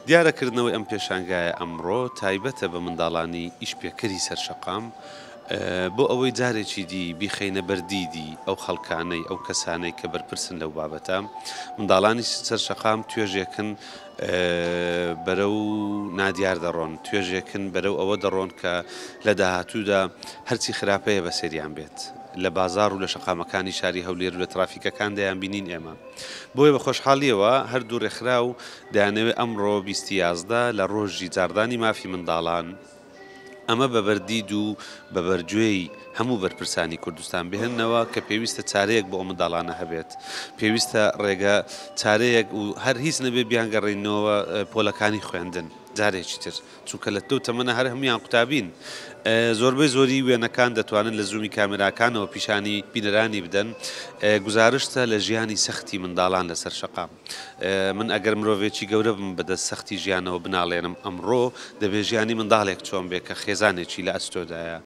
دیارە کردنەوەی ئەم پێشانگایە ئەمڕۆ تایبەتە بە منداڵانی ئیشپێکەری سەر شەقام، بۆ ئەوەی جارێکی دی بیخەینە بەر دیدی ئەو خەڵکانەی، ئەو کەسانەی کە بەرپرسن لەو بابەتە. منداڵانی سەر شەقام توێژێکن بەرەو نادیار دەڕۆن، توێژێکن بەرەو ئەوە دەڕۆن کە لە داهاتوودا هەرچی خراپەیە بەسەریان بێت. لە بازاڕ و لە شەقامەکانی شاری هەولێر و لە ترافیکەکان دەیانبینین ئێمە. بۆیە بە خۆشحاڵییەوە هەردوو رێکخراو دەیانەوێت ئەمڕۆ 20 ی 11 لە رۆژی جاڕدانی مافی منداڵان ئەمە بە بەردید و بە بەرگوێی هەموو بەرپرسانی کوردستان بهێننەوە کە پێویستە چارەیەک بۆ ئەو منداڵانە هەبێت، پێویستە رێگە چارەیەک و هەر هیچ نەبێت بیانگەڕێننەوە پۆلەکانی خوێندن جارێکی تر. چونکە لە لەو تەمەنە هەر هەموویان قوتابین. زۆربەی زۆری وێنەکان دەتوانن لە زوومی کامێراکانەوە پیشانی بینەرانی بدەن. گوزارشتە لە ژیانی سەختی منداڵان لەسەر شەقام. من ئەگەر مرۆڤێکی گەورە بم بەدەست سەختی ژیانەوە بناڵێنم ئەمڕۆ دەبێ ژیانی منداڵێک چۆن بێ کە خێزانێکی لە ئەستۆدایە.